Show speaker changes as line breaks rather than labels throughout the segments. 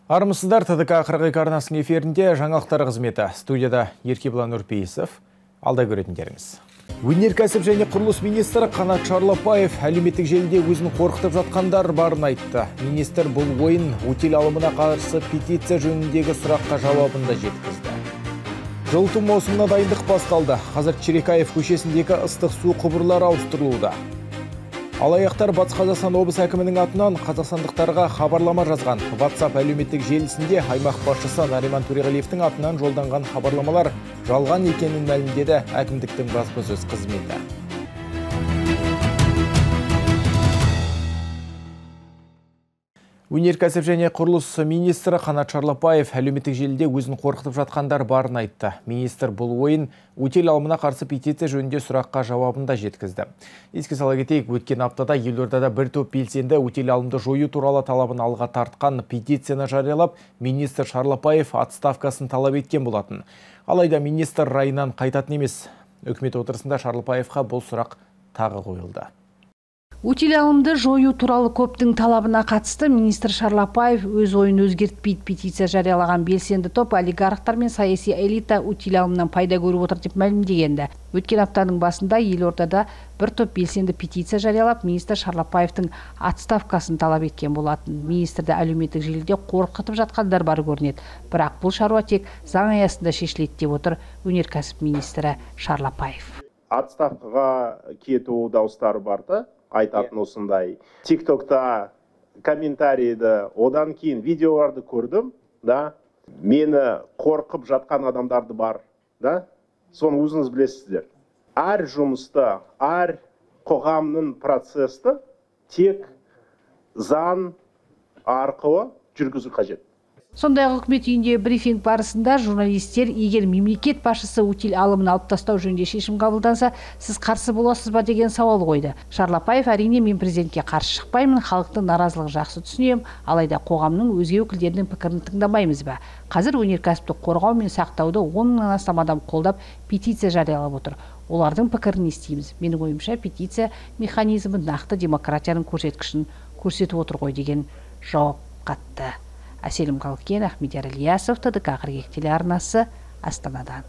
Армысыздар, ТДК 42 арнасының эфирінде жаңалықтар қызметі. Студияда Еркебұлан Нұрпейісов. Алда көретіндеріңіз. Өнеркәсіп және құрылыс министрі Қанат Шарлапаев әлеуметтік желіде өзін қорқытып жатқандар барын айтты. Министр бұл ойын утиль алымына қарсы петиция жөніндегі сұраққа жауабында жеткізді. Жылыту маусымына дайындық басталды. Қазір Черекаев көшесіндегі ыстық су құбырлары ауыстырылуда. Алаяқтар Батыс Қазақстан облыс әкімінің атынан қазақстандықтарға хабарлама жазған. WhatsApp әлеуметтік желісінде аймақ басшысы Нариман Төреғалиевтің атынан жолданған хабарламалар жалған екенін мәлімдеді әкімдіктің баспасөз қызметі. Өнеркәсіп және құрылыс министрі Қанат Шарлапаев әлеуметтік желіде өзін қорқытып жатқандар барын айтты. Министр бұл ойын утиль алымына қарсы петиция жөнінде сұраққа жауабында жеткізді. Еске сала кетейік, өткен аптада елордада бір топ белсенді утиль алымды жою туралы талабын алға тартқан петицияны жариялап, министр Шарлапаев отставкасын талап еткен болатын. Алайда министр райынан қайтатын емес. Үкімет отырысында Шарлапаевқа бұл сұрақ тағы қойылды.
Утиль алымды жою туралы көптің талабына қатысты министр Шарлапаев өз ойын өзгертпейді. Петиция жариялаған белсенді топ олигархтар мен саяси элита утиль алымынан пайда көріп отыр деп мәлімдегенді. Өткен аптаның басында елордада бір топ белсенді петиция жариялап, министр Шарлапаевтың отставкасын талап еткен болатын. Министрді әлеуметтік желіде қорқытып жатқандар бар көрінеді. Бірақ бұл шаруа тек заң аясында шешіледі деп отыр өнеркәсіп министрі Шарлапаев.
Отставкаға кету дауыстары барды. Айтатын осындай. Тиктокта комментарийді, одан кейін видеоларды көрдім, да. Мені қорқып жатқан адамдарды бар, да. Соны өзіңіз білесіздер. Әр жұмысты, әр қоғамның процесті тек заң арқылы жүргізу қажет.
Сондай үкімет үйінде брифинг барысында журналистер, егер мемлекет басшысы утиль алымын алып тастау жөнінде шешім қабылданса, сіз қарсы боласыз ба деген сауал қойды. Шарлапаев әрине мен президентке қарсы шықпаймын, халықтың наразылығын жақсы түсінемін, алайда қоғамның өзге өкілдерінің пікірін тыңдамаймыз ба? Қазір өнеркәсіпті қорғау мен сақтауды 10 мыңнан астам адам қолдап петиция жариялап отыр. Олардың пікірін естиміз. Менің ойымша петиция механизмі нақты демократияның көрсеткішін көрсетіп отыр ғой деген жауап қатты. Әселім Қалкен, Ахмедияр Ильясов, ТДК 42 телеарнасы, Астанадан.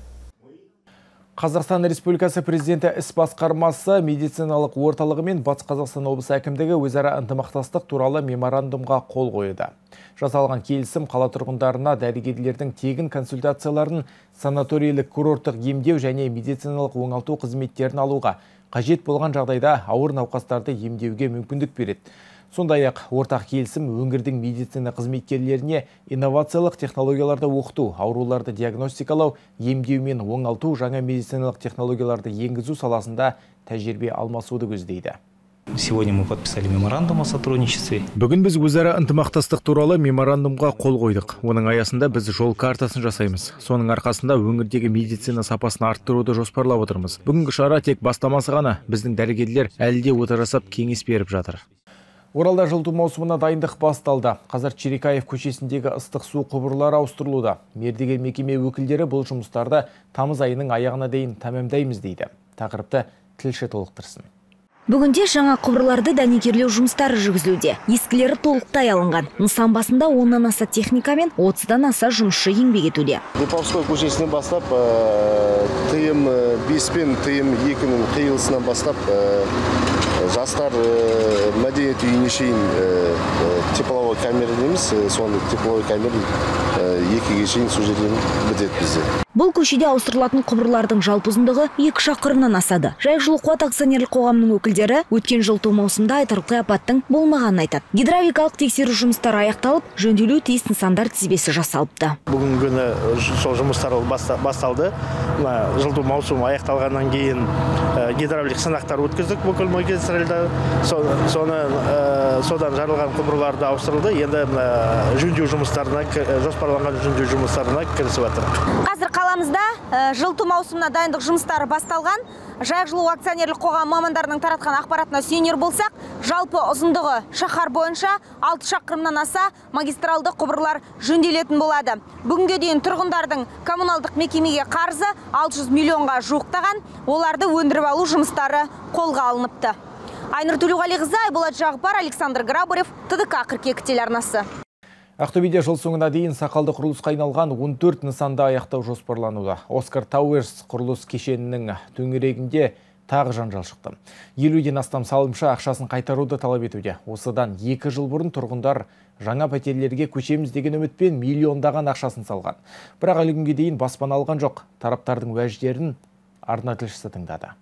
Қазақстан Республикасы президенті іс басқармасы медициналық орталығы мен Батыс Қазақстан облысы әкімдігі өзара ынтымақтастық туралы меморандумға қол қойды. Жасалған келісім қала тұрғындарына дәрігерлердің тегін консультацияларын, санаторийлік курорттық емдеу және медициналық оңалту қызметтерін алуға, қажет болған жағдайда ауыр науқастарды емдеуге мүмкіндік береді. Сондай-ақ ортақ келісім өңірдің медицина қызметкерлеріне инновациялық технологияларды оқыту, ауруларды диагностикалау, емдеу мен оңалту, жаңа медициналық технологияларды енгізу саласында тәжірибе алмасуды көздейді.
Сегодня мы подписали меморандум о сотрудничестве.
Бүгін біз өзара ынтымақтастық туралы меморандумға қол қойдық. Оның аясында біз жол картасын жасаймыз. Соның арқасында өңірдегі медицина сапасын арттыруды жоспарлап отырмыз. Бүгінгі шара тек бастамасы ғана, біздің дәрігерлер әлі де ота жасап кеңес беріп жатыр. Оралда жылыту маусымына дайындық басталды. Қазір Черекаев көшесіндегі ыстық су құбырлары ауыстырылуда. Мердігер мекеме өкілдері бұл жұмыстарды тамыз айының аяғына дейін тәмамдаймыз дейді. Тақырыпты тілші толықтырсын.
Бүгінде жаңа құбырларды дәнекерлеу жұмыстары жүргізілуде. Ескілері толықтай алынған. Нысан басында 10-нан аса техника мен 30-дан аса жұмысшы еңбек етуде.
Липовской көшесінен бастап тыйым 5 пен тыйым 2-нің қиылысынан бастап жастар мәдениет үйіне шейін тепловой камера дейміз, соны тепловой камера 2-ге шейін су жерден бітеді бізде.
Бұл көшеде ауыстырылатын құбырлардың жалпы ұзындығы 2 шақырымнан асады. Жайық жылу қуат акционерлік қоғамының өкілдері өткен жылыту маусымында айтарлықтай апаттың болмағанын айтады. Гидравликалық тексеру жұмыстары аяқталып, жөнделуі тиіс нысандар тізбесі жасалыпты.
Бүгінгі күні сол жұмыстар басталды. Жылыту маусымы аяқталғаннан кейін гидравлик сынақтар өткіздік бүкіл магистральда. Содан жарылған құбырларды ауыстырылды. Енді жөндеу жұмыстарына, жоспарланған жөндеу жұмыстарына кірісіп жатыр.
Қазір қаламызда жылыту маусымына дайындық жұмыстары басталған. Жайық жылу акционерлік қоғам мамандарының таратқан ақпаратына сүйенер болсақ, жалпы ұзындығы шаһар бойынша 6 шақырымнан аса магистралды құбырлар жөнделетін болады. Бүгінге дейін тұрғындардың коммуналдық мекемеге қарызы 600 миллионға жуықтаған, оларды өндіріп алу жұмыстары қолға алыныпты. Айнұр Төлеуғалиқызы, Айболат Жағыпар, Александр Грабарев, ТДК 42 телеарнасы.
Ақтөбеде жыл соңына дейін сақалды құрылысқа айналған 14 нысанда аяқтау жоспарлануда. Оскар Тауэрс құрылыс кешенінің төңірегінде тағы жанжал шықты. 50-ден астам салымшы ақшасын қайтаруды талап етуде. Осыдан 2 жыл бұрын тұрғындар жаңа пәтерлерге көшеміз деген үмітпен миллиондаған ақшасын салған. Бірақ әлі күнге дейін баспана алған жоқ. Тараптардың уәждерін арна тілшісі тыңдады.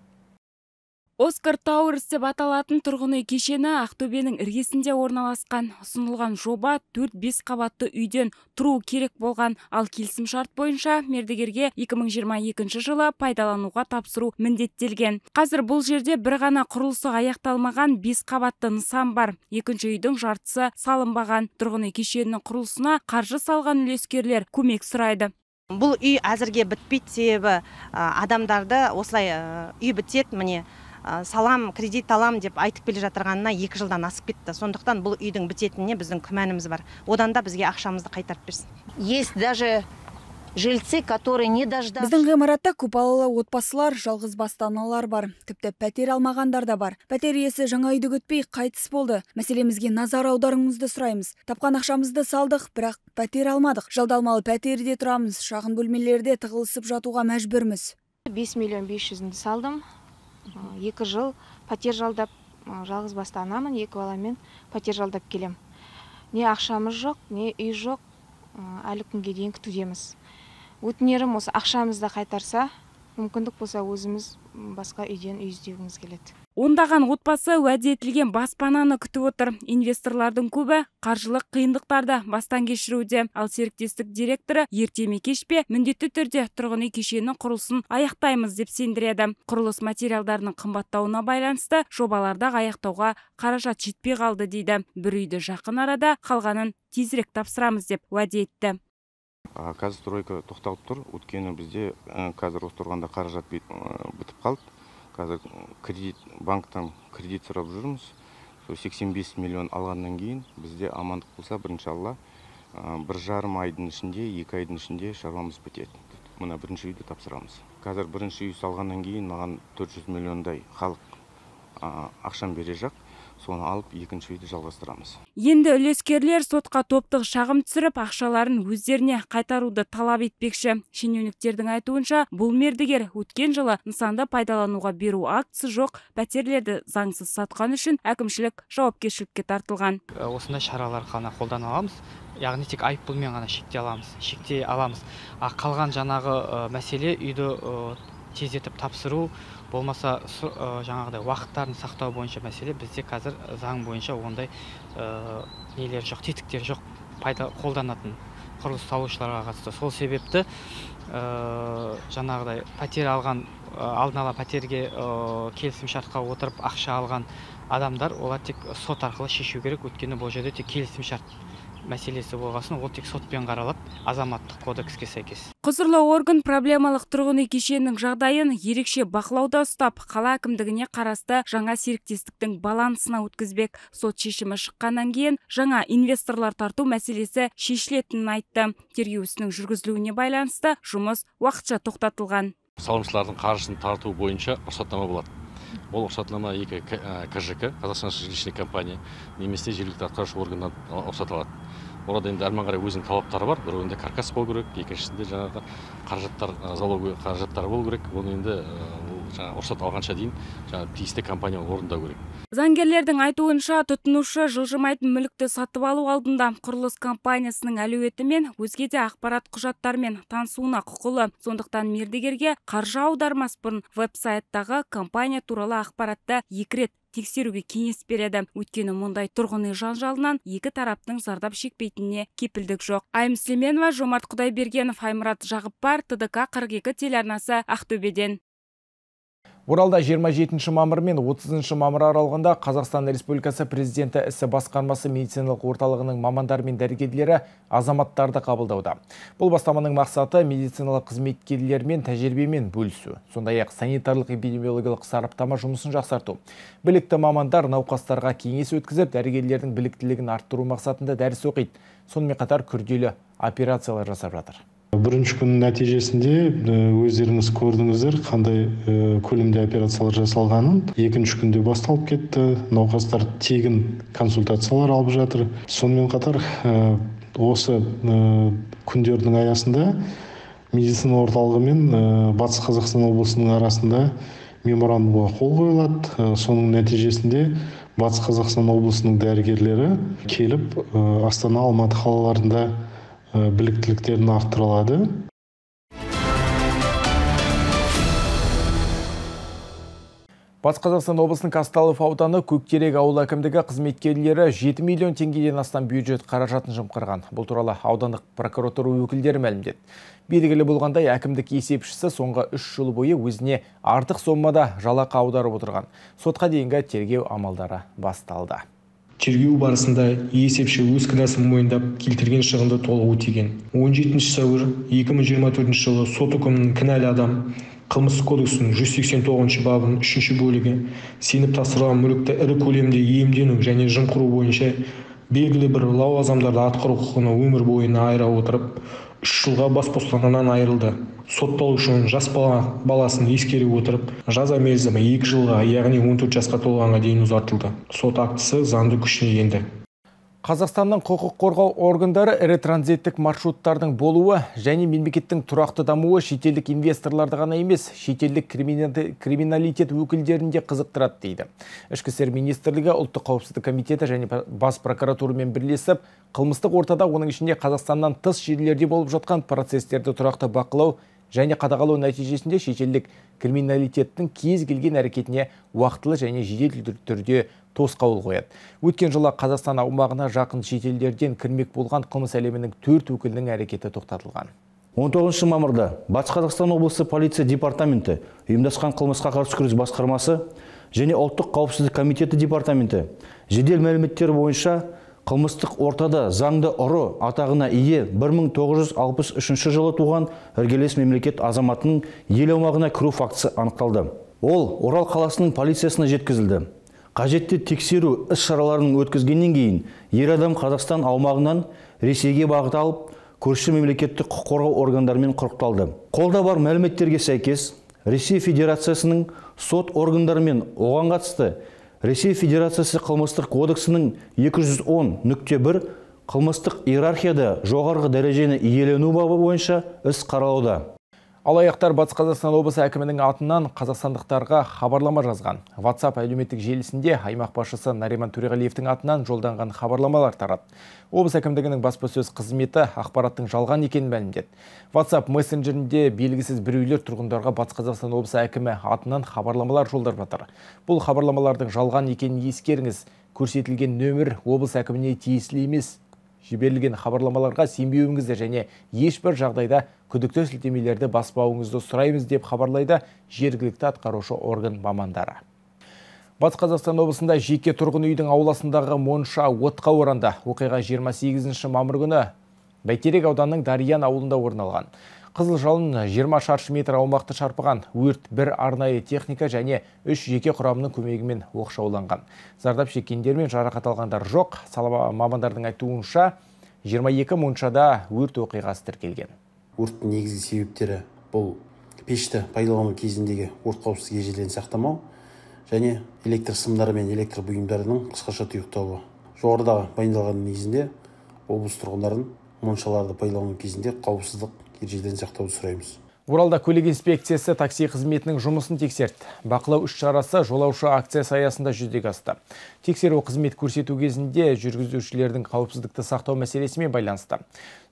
Оскар Тауэрс деп аталатын тұрғын үй кешені Ақтөбенің іргесінде орналасқан. Ұсынылған жоба 4-5 қабатты үйден тұру керек болған, ал келісім шарт бойынша мердігерге 2022 жылы пайдалануға тапсыру міндеттелген. Қазір бұл жерде бір ғана құрылысы аяқталмаған 5 қабатты нысан бар. Екінші үйдің жартысы салынбаған. Тұрғын үй кешенінің құрылысына қаржы салған үлескерлер көмек сұрайды.
Бұл үй әзірге бітпейді, себебі адамдарды осылай үй бітеді, міне салам, кредит алам деп айтып келе жатырғанына 2 жылдан асып кетті. Сондықтан бұл үйдің бітетініне біздің күмәніміз бар. Одан да бізге ақшамызды қайтарып берсін.
Есть даже жильцы, которые не дождались.
Біздің ғимаратта көпбалалы отбасылар, жалғыз басты-аналар бар. Тіпті пәтер алмағандар да бар. Пәтер иесі жаңа үйді күтпей қайтыс болды. Мәселемізге назар аударуыңызды сұраймыз. Тапқан ақшамызды салдық, бірақ пәтер алмадық. Жалдалмалы пәтерде тұрамыз. Шағын бөлмелерде тығылысып жатуға мәжбүрміз.
5 миллион 500-ді салдым. 2 жыл пәтер жалдап, жалғыз басты анамын, 2 баламен пәтер жалдап келем. Не ақшамыз жоқ, не үй жоқ, әлі күнге дейін күтудеміз. Өтінерім осы ақшамызды қайтарса, мүмкіндік болса өзіміз басқа үйден үй іздеуіміз келеді.
Ондаған отбасы уәде етілген баспананы күтіп отыр. Инвесторлардың көбі қаржылық қиындықтарды бастан кешіруде. Ал серіктестік директоры ерте ме кеш пе міндетті түрде тұрғын үй кешенінің құрылысын аяқтаймыз деп сендіреді. Құрылыс материалдарының қымбаттауына байланысты жобаларды аяқтауға қаражат жетпей қалды дейді. Бір үйді жақын арада, қалғанын тезірек тапсырамыз деп уәде етті.
Қазір стройка тоқталып тұр. Өткені бізде қазір осы тұрғанда қаражат бітіп қалды. Қазір банктан кредит сұрап жүрміз. 85 миллион алғаннан кейін бізде амандық болса, бірінші алла, 1,5 айдың ішінде, 2 айдың ішінде шаруамыз бітеді. Мына бірінші үйді тапсырамыз. Қазір бірінші үй салғаннан кейін маған 400 миллиондай халық ақшам бере жақ. Соны алып, екінші үйді жалғастырамыз.
Енді үлескерлер сотқа топтық шағым түсіріп, ақшаларын өздеріне қайтаруды талап етпекші. Шенеуніктердің айтуынша, бұл мердігер өткен жылы нысанды пайдалануға беру актісі жоқ, пәтерлерді заңсыз сатқан үшін әкімшілік жауапкершілікке тартылған.
Осындай шаралар ғана қолдана аламыз. Яғни тек айыппұлмен ғана шектей аламыз. Қалған жаңағы мәселе үйді тездетіп тапсыру, болмаса жаңағыдай уақыттарын сақтау бойынша мәселе. Бізде қазір заң бойынша ондай нелер жоқ, тетіктер жоқ, қолданатын құрылыс салушыларға қатысты. Сол себепті жаңағыдай пәтер алған, алдын ала пәтерге келісім шартқа отырып ақша алған адамдар, олар тек сот арқылы шешу керек. Өткені бұл жерде тек келісім шарт мәселесі болғасын, ол тек сотпен қаралып, азаматтық кодекске сәйкес.
Құзырлы орган проблемалық тұрғын үй кешенінің жағдайын ерекше бақылауда ұстап, қала әкімдігіне қарасты жаңа серіктестіктің балансына өткізбек. Сот шешімі шыққаннан кейін жаңа инвесторлар тарту мәселесі шешілетінін айтты. Тергеу ісінің жүргізілуіне байланысты жұмыс уақытша тоқтатылған.
Салымшылардың қаржысын тарту бойынша рұқсатнама болады. Ол рұқсатнама екі КЖК, Қазақстан жилищный компания, немесе жергілікті атқарушы органнан рұқсат алады. Орада енді әрмен қарай өзінің талаптары бар. Бірінде каркас болу керек, екіншісінде жаңағы қаражаттар, залоговый қаражаттар болу керек. Оны енді рұқсат алғанша дейін тиісті компания орындау керек.
Заңгерлердің айтуынша, тұтынушы жылжымайтын мүлікті сатып алу алдында құрылыс компаниясының әлеуеті мен өзге де ақпарат құжаттарымен танысуына құқылы. Сондықтан мердігерге қаржы аудармас бұрын веб-сайттағы компания туралы ақпаратты 2 рет тексеруге кеңес береді. Өйткені мұндай тұрғын үй жанжалынан екі тараптың зардап шекпейтініне кепілдік жоқ. Айым Слеменова, Жомарт Құдайбергенов, Аймұрат Жағыппар, ТДК 42 телеарнасы, Ақтөбеден.
Оралда 27 мамыр мен 30 мамыр аралығында Қазақстан Республикасы Президенті ісі басқармасы медициналық орталығының мамандар мен дәрігерлері азаматтарды қабылдауда. Бұл бастаманың мақсаты медициналық қызметкерлермен тәжірибемен бөлісу, сондай-ақ санитарлық эпидемиологиялық сараптама жұмысын жақсарту. Білікті мамандар науқастарға кеңес өткізіп, дәрігерлердің біліктілігін арттыру мақсатында дәріс оқиды. Сонымен қатар күрделі операциялар жасап жатыр.
Бірінші күн нәтижесінде өздеріңіз көрдіңіздер қандай көлемде операциялар жасалғанын. Екінші күнде басталып кетті. Науқастар тегін консультациялар алып жатыр. Сонымен қатар осы күндердің аясында медицина орталығы мен Батыс Қазақстан облысының арасында меморандумға қол қойылады. Соның нәтижесінде Батыс Қазақстан облысының дәрігерлері келіп Астана, Алматы қалаларында біліктіліктерін арттырылады.
Батыс Қазақстан облысының Казталов ауданы Көктерек ауыл әкімдігі қызметкерлері 7 миллион теңгеден астам бюджет қаражатын жымқырған. Бұл туралы аудандық прокуратура өкілдері мәлімдеді. Белгілі болғандай, әкімдік есепшісі соңғы 3 жыл бойы өзіне артық соммада жалақы аударып отырған. Сотқа дейінгі тергеу амалдары басталды.
Тергеу барысында есепші өз кінәсін мойындап, келтірген шығынды толық өтеген. 17 сәуір 2024 жылы сот үкімінің кінәлі адам Қылмыстық кодексінің 189 бабының 3 бөлігі сеніп тапсырылған мүлікті ірі көлемде иемдену және жымқыру бойынша белгілі бір лауазымдарды атқару құқығын өмір бойына айыра отырып, 3 жылға бас бостандығынан айырылды. Сотталушының жас баласын ескере отырып, жаза мерзімі 2 жылға, яғни 14 жасқа толғанға дейін ұзартылды. Сот актісі заңды күшіне енді.
Қазақстанның құқық қорғау органдары ірі транзиттік маршруттардың болуы және мемлекеттің тұрақты дамуы шетелдік инвесторларды ғана емес, шетелдік криминалитет өкілдерінде қызықтырады дейді. Ішкі істер министрлігі, ұлттық қауіпсіздік комитеті және бас прокуратурамен бірлесіп, қылмыстық ортада, оның ішінде Қазақстаннан тыс жерлерде болып жатқан процестерді тұрақты бақылау және қадағалау нәтижесінде шетелдік криминалитеттің кез келген әрекетіне уақытылы және жедел түрде тосқауыл қояды. Өткен жылы Қазақстан аумағына жақын шетелдерден кірмек болған қылмыс әлемінің 4 өкілінің әрекеті тоқтатылған.
19 мамырда Батыс Қазақстан облысы полиция департаменті, ұйымдасқан қылмысқа қарсы күрес басқармасы және ұлттық қауіпсіздік комитеті департаменті жедел мәліметтері бойынша қылмыстық ортада заңды ұры атағына ие 1963 жылы туған іргелес мемлекет азаматының ел аумағына кіру фактісі анықталды. Ол Орал қаласының полициясына жеткізілді. Қажетті тексеру іс-шараларын өткізгеннен кейін ер адам Қазақстан аумағынан Ресейге бағыт алып, көрші мемлекеттік құқық қорғау органдарымен құрықталды. Қолда бар мәліметтерге сәйкес, Ресей Федерациясының сот органдарымен оған қатысты Ресей Федерациясы қылмыстық кодексінің 210.1 қылмыстық иерархияда жоғарғы дәрежені иелену бабы бойынша іс қаралуда.
Алаяқтар Батыс Қазақстан облысы әкімінің атынан қазақстандықтарға хабарлама жазған. WhatsApp әлеуметтік желісінде аймақ басшысы Нариман Төреғалиевтің атынан жолданған хабарламалар тарады. Облыс әкімдігінің баспасөз қызметі ақпараттың жалған екенін мәлімдеді. WhatsApp мессенджерінде белгісіз біреулер тұрғындарға Батыс Қазақстан облысы әкімі атынан хабарламалар жолдап жатыр. Бұл хабарламалардың жалған екенін ескеріңіз. Көрсетілген нөмір облыс әкіміне тиесілі емес. Жіберілген хабарламаларға сенбеуіңізді және ешбір жағдайда күдікті сілтемелерді баспауыңызды сұраймыз деп хабарлайды жергілікті атқарушы орган мамандары. Батыс Қазақстан облысында жеке тұрғын үйдің ауласындағы монша отқа оранды. Оқиға 28 мамыр күні Бәйтерек ауданының Дариян ауылында орын алған. Қызыл жалын 20 шаршы метр аумақты шарпыған. Өрт бір арнайы техника және 3 жеке құрамының көмегімен оқшауланған. Зардап шеккендер мен жарақат алғандар жоқ. Сала мамандардың айтуынша 22 моншада өрт оқиғасы тіркелген.
Өрттің негізгі себептері бұл пешті пайдалану кезіндегі өрт қауіпсіздік ережелерін сақтамау және электр сымдары мен электр бұйымдарының қысқаша тұйықталуы. Жоғарыда баяндалған негізінде облыс тұрғындарын моншаларды пайдалану кезінде қауіпсіздік ережелерін сақтауды сұраймыз.
Оралда көлік инспекциясы такси қызметінің жұмысын тексерді. Бақылау іс-шарасы жолаушы акциясы аясында жүзеге асты. Тексеру қызмет көрсету кезінде жүргізушілердің қауіпсіздікті сақтау мәселесімен байланысты.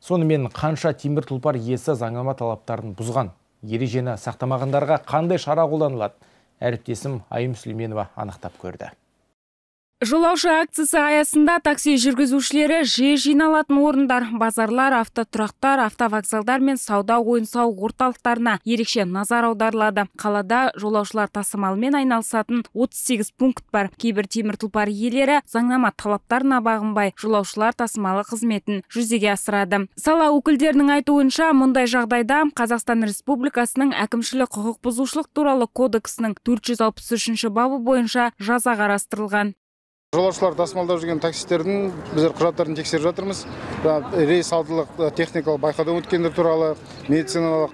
Сонымен қанша темір тұлпар иесі заңнама талаптарын бұзған, ережені сақтамағандарға қандай шара қолданылады? Әріптесім Айым Сүлейменова анықтап көрді.
Жолаушы акциясы аясында такси жүргізушілері жиі жиналатын орындар, базарлар, автотұрақтар, автовокзалдар мен сауда ойын-сауық орталықтарына ерекше назар аударылады. Қалада жолаушылар тасымалымен айналысатын 38 пункт бар. Кейбір темір тұлпар иелері заңнама талаптарына бағынбай жолаушылар тасымалы қызметін жүзеге асырады. Сала өкілдерінің айтуынша, мұндай жағдайда Қазақстан Республикасының әкімшілік құқық бұзушылық туралы кодексінің 463 бабы бойынша жаза қарастырылған.
Жолаушылар тасымалдап жүрген таксистердің біздер құжаттарын тексеріп жатырмыз. Рейс алдылық техникалық байқаудан өткендер туралы, медициналық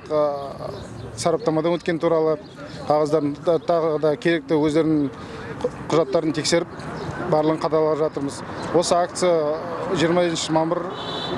сараптамадан өткен туралы қағаздарын тағы да керекті өздерінің құжаттарын тексеріп барлығын қадағалап жатырмыз. Осы акция 20 мамыр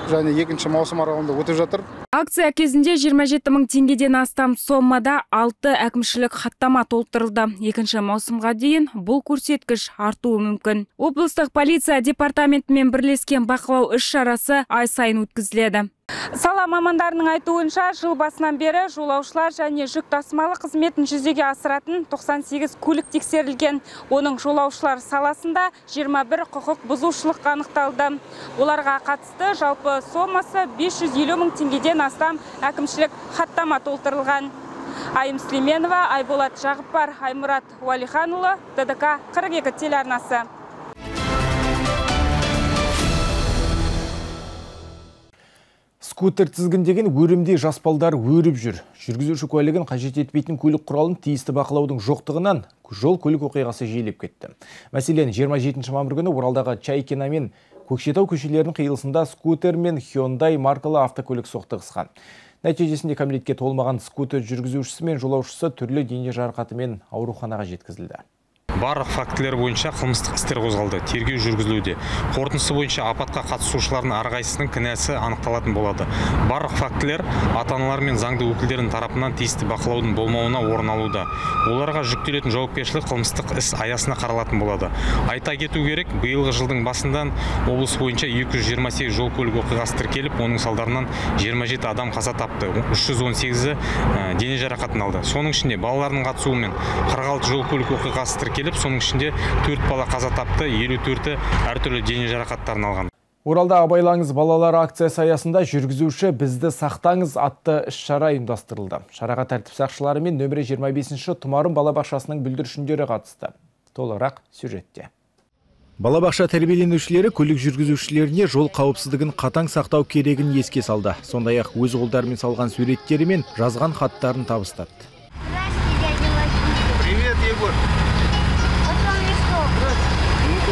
және 2 маусым аралығында өтіп жатыр.
Акция кезінде 27 мың теңгеден астам соммада 6 әкімшілік хаттама толтырылды. 2 маусымға дейін бұл көрсеткіш артуы мүмкін. Облыстық полиция департаментімен бірлескен бақылау іс-шарасы ай сайын өткізіледі. Сала мамандарының айтуынша, жыл басынан бері жолаушылар және жүк тасымалы қызметін жүзеге асыратын 98 көлік тексерілген. Оның жолаушылар саласында 21 құқық бұзушылық анықталды. Оларға қатысты жалпы сомасы 550 мың теңгеден астам әкімшілік хаттама толтырылған. Айым Слеменова, Айболат Жағыппар, Аймұрат Уалиханұлы, ТДК 42 телеарнасы.
Скутер тізгіндеген өрімдей жаспалдар өріп жүр. Жүргізуші куәлігін қажет етпейтін көлік құралын тиісті бақылаудың жоқтығынан жол көлік оқиғасы жиілеп кетті. Мәселен, 27 мамыр күні Оралдағы Чайкина мен Көкшетау көшелерінің қиылысында скутер мен Hyundai маркалы автокөлік соқтығысқан. Нәтижесінде кәмелетке толмаған скутер жүргізушісі мен жолаушысы түрлі дене жарақатымен ауруханаға жеткізілді.
Барлық фактілер бойынша қылмыстық істер қозғалды, тергеу жүргізілуде. Қорытындысы бойынша апатқа қатысушылардың әрқайсысының кінәсі анықталатын болады. Барлық фактілер ата-аналар мен заңды өкілдердің тарапынан тиісті бақылаудың болмауына орын алуда. Оларға жүктелетін жауапкершілік қылмыстық іс аясына қаралатын болады. Айта кету керек, биылғы жылдың басынан облыс бойынша 228 жол көлік оқиғасы тіркеліп, оның салдарынан 27 адам қаза тапты, 318-і дене жарақатын алды. Соның ішінде балалардың қатысуымен 46 жол көлік оқиғасы тіркеліп, соның ішінде 4 бала қаза тапты, 54-і әртүрлі дене жарақаттарын алған.
Оралда абайлаңыз балалар акциясы аясында жүргізуші бізді сақтаңыз атты іс-шара ұйымдастырылды. Шараға тәртіп сақшылары мен нөмірі 25-ші Тұмарым балабақшасының бүлдіршіндері қатысты. Толығырақ сюжетте. Балабақша тәрбиеленушілері көлік жүргізушілеріне жол қауіпсіздігін қатаң сақтау керегін еске салды. Сондай-ақ өз қолдарымен салған суреттері мен жазған хаттарын табыстады.
Привет, Егор.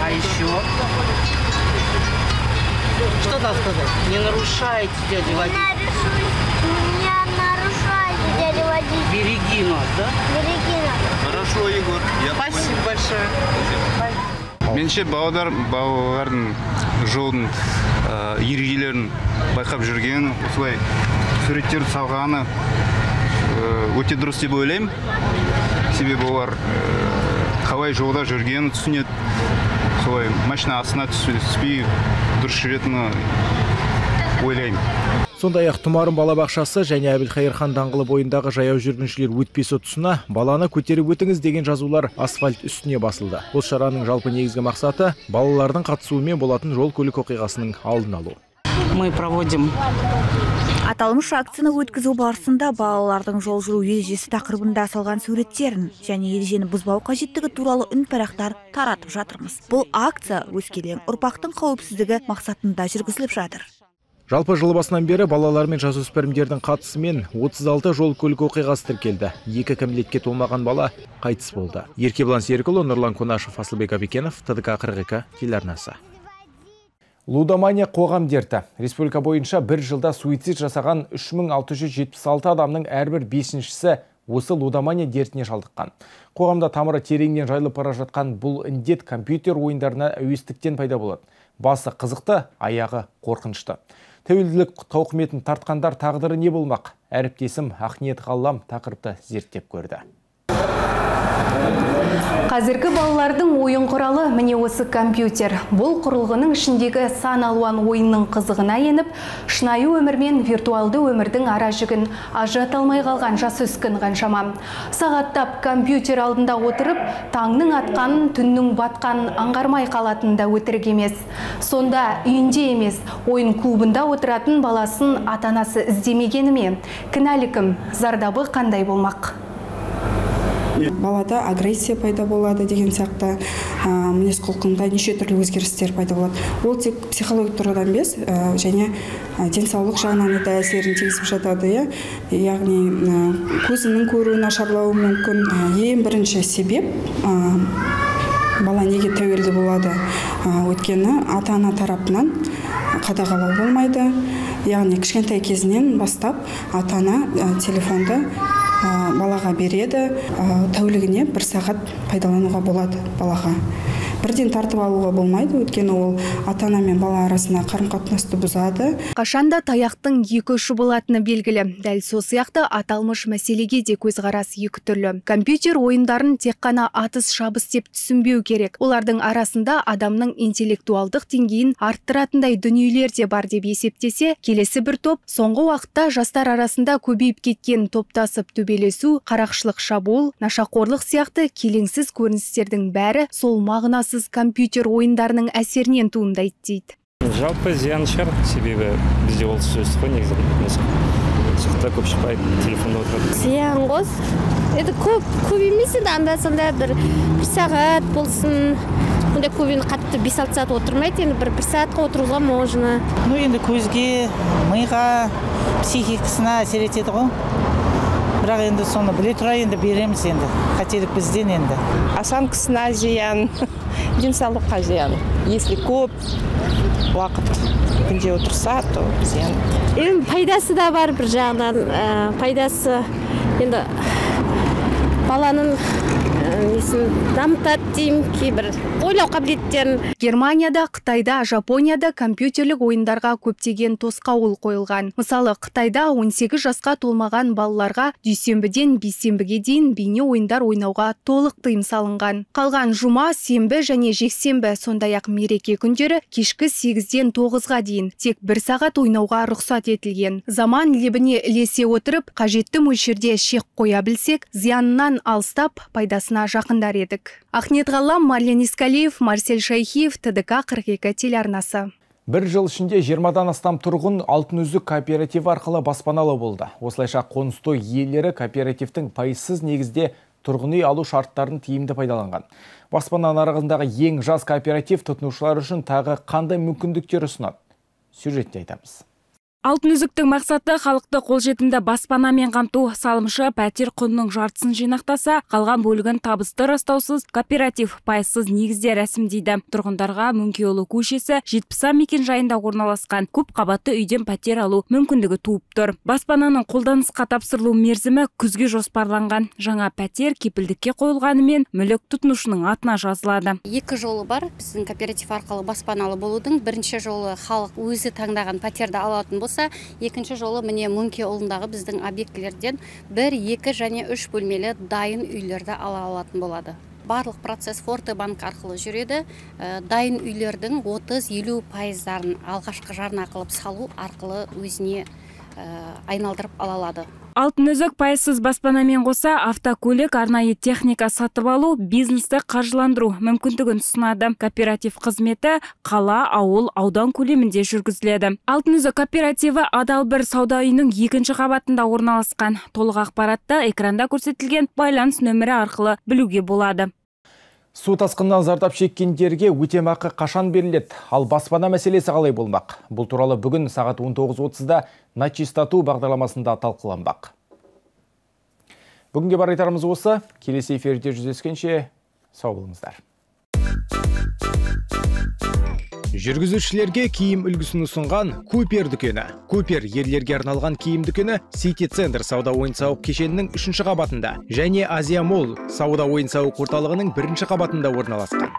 А еще? Что там сказать? Не нарушайте, дядя водитель.
Не нарушайте, дядя водитель.
Береги нас, да?
Береги нас.
Хорошо, Егор. Спасибо большое.
Менше балалардың жолдың ережелерін байқап жүрген, осылай суреттерді салғаны өте дұрыс деп ойлаймын. Себебі олар қалай жолда жүргенін түсінеді, солай машина астына түспей дұрыс жүретіні ойлаймын.
Сондай-ақ Тұмарым балабақшасы және Әбілқайырхан даңғылы бойындағы жаяу жүргіншілер өтпесі тұсына баланы көтеріп өтіңіз деген жазулар асфальт үстіне басылды. Бұл шараның жалпы негізгі мақсаты балалардың қатысуымен болатын жол көлік оқиғасының алдын алу.
Мы проводим
Аталмыш акцияны өткізу барысында балалардың жол жүру ережесі тақырыбында салған суреттерін және ережені бұзбау қажеттігі туралы үнпарақтар таратып жатырмыз. Бұл акция өскелең ұрпақтың қауіпсіздігі мақсатында жүргізіліп жатыр.
Жалпы жыл басынан бері балалар мен жасөспірімдердің қатысымен 36 жол көлік оқиғасы тіркелді. 2 кәмелетке толмаған бала қайтыс болды. Еркебұлан Серікұлы, Нұрлан Конашев, Асылбек Абекенов, ТДК 42 телеарнасы. Лудомания қоғам дерті. Республика бойынша бір жылда суицид жасаған 3676 адамның әрбір 5-шісі осы лудомания дертіне шалдыққан. Қоғамда тамыры тереңнен жайылып бара жатқан бұл індет компьютер ойындарына әуестіктен пайда болады. Басы қызықты, аяғы қорқынышты. Тәуелділік тауқыметін тартқандар тағдыры не болмақ? Әріптесім Ақниет Ғаллам тақырыпты зерттеп көрді.
Қазіргі балалардың ойын құралы міне осы компьютер. Бұл құрылғының ішіндегі сан алуан ойынның қызығына еніп, шынайы өмір мен виртуалды өмірдің ара жігін ажырата алмай қалған жасөспірім қаншама. Сағаттап компьютер алдында отырып, таңның атқанын, түннің батқанын аңғармай қалатын да өтірік емес. Сонда үйінде емес, ойын клубында отыратын баласын ата-анасы іздемегені ме? Кінәлі кім? Зардабы қандай болмақ?
Балада агрессия пайда болады деген сияқты мінез құлқында неше түрлі өзгерістер пайда болады. Ол тек психологиялық тұрғыдан емес, және денсаулық жағынан да әсерін тигізіп жатады. Яғни көзінің көруі нашарлауы мүмкін. Ең бірінші себеп бала неге тәуелді болады? Өйткені ата-ана тарапынан қадағалау болмайды. Яғни кішкентай кезінен бастап ата-ана телефонды балаға береді, тәулігіне 1 сағат пайдалануға болады балаға. бірден тартып алуға болмайды, өйткені ол ата-ана мен бала арасында қарым-қатынасты бұзады.
Қашанда таяқтың екі ұшы болатыны белгілі. Дәл сол сияқты аталмыш мәселеге де көзқарас екі түрлі. Компьютер ойындарын тек қана атыс шабыс деп түсінбеу керек. Олардың арасында адамның интеллектуалдық деңгейін арттыратындай дүниелер де бар деп есептесе, келесі бір топ соңғы уақытта жастар арасында көбейіп кеткен топтасып төбелесу, қарақшылық шабуыл, нашақорлық сияқты келеңсіз көріністердің бәрі сол мағынасыз компьютер ойындарының әсерінен туындайды дейді.
Жалпы зиян шығар, себебі бізде ол сөз қой негізі. Сықта көп шықпайды, телефонда отырады.
Зиян қос. Это көп емес енді, анда-санда бір сағат болсын. Онда көбіне қатты 5-6 сағат отырмайды, енді бір сағатқа отыруға можно.
Ну енді көзге, миға, психикасына әсер етеді ғой. Бірақ енді соны біле тұра енді береміз енді. Қателік бізден енді.
Осанкасына зиян, денсаулыққа зиян. Если көп уақыт күнде отырса, то зиян.
Енді пайдасы да бар бір жағынан. Пайдасы енді баланың дамытады деймін, кейбір ойлау қабілеттерін.
Германияда, Қытайда, Жапонияда компьютерлік ойындарға көптеген тосқауыл қойылған. Мысалы, Қытайда 18 жасқа толмаған балаларға дүйсенбіден бейсенбіге дейін бейне ойындар ойнауға толық тыйым салынған. Қалған жұма, сенбі және жексенбі, сондай-ақ мереке күндері кешкі 8-ден 9-ға дейін тек 1 сағат ойнауға рұқсат етілген. Заман лебіне ілесе отырып, қажетті мөлшерде шек қоя білсек, зиянынан алыстап, пайдасына жақындар едік. Ахмет Ғалам, Марлен Искалиев, Марсель Шайхиев, ТДК 42 телеарнасы.
Бір жыл ішінде 20-дан астам тұрғын Алтын үзік кооперативі арқылы баспаналы болды. Осылайша қоныстой иелері кооперативтің пайызсыз негізде тұрғын үй алу шарттарын тиімді пайдаланған. Баспана нарығындағы ең жас кооператив тұтынушылар үшін тағы қандай мүмкіндіктер ұсынады? Сюжетте айтамыз.
Алтын үзіктің мақсаты халықты қолжетімді баспанамен қамту. Салымшы пәтер құнының жартысын жинақтаса, қалған бөлігін табысты растаусыз кооператив пайызсыз негізде рәсімдейді. Тұрғындарға Мөңкеұлы көшесі 70 мекен жайында орналасқан көп қабатты үйден пәтер алу мүмкіндігі туып тұр. Баспананың қолданысқа тапсырылу мерзімі күзге жоспарланған. Жаңа пәтер кепілдікке қойылғанымен мүлік тұтынушының атына жазылады.
Екі жолы бар біздің кооператив арқылы баспаналы болудың. Бірінші жолы халық өзі таңдаған пәтерді алатын болса, екінші жолы міне Мөңкеұлындағы біздің объектілерден 1, 2 және 3 бөлмелі дайын үйлерді ала алатын болады. Барлық процесс Фортебанк арқылы жүреді. Дайын үйлердің 30-50% алғашқы жарна қылып салу арқылы өзіне айналдырып ала алады.
Алтын үзік пайызсыз баспанамен қоса автокөлік, арнайы техника сатып алу, бизнесті қаржыландыру мүмкіндігін ұсынады. Кооператив қызметі қала, ауыл, аудан көлемінде жүргізіледі. Алтын үзік кооперативі адал бір сауда үйінің 2-ші қабатында орналасқан. Толық ақпаратты экранда көрсетілген байланыс нөмірі арқылы білуге болады.
Су тасқынынан зардап шеккендерге өтемақы қашан беріледі? Ал баспана мәселесі қалай болмақ? Бұл туралы бүгін сағат 19:30-да На чистоту бағдарламасында талқыланбақ. Бүгінге бар айтарымыз осы. Келесі эфирде жүздескенше сау болыңыздар. Жүргізушілерге киім үлгісін ұсынған Купер дүкені. Купер ерлерге арналған киім дүкені Сити Центр сауда ойын-сауық кешенінің 3-ші қабатында және Азия Молл сауда ойын-сауық орталығының 1-ші қабатында орналасқан.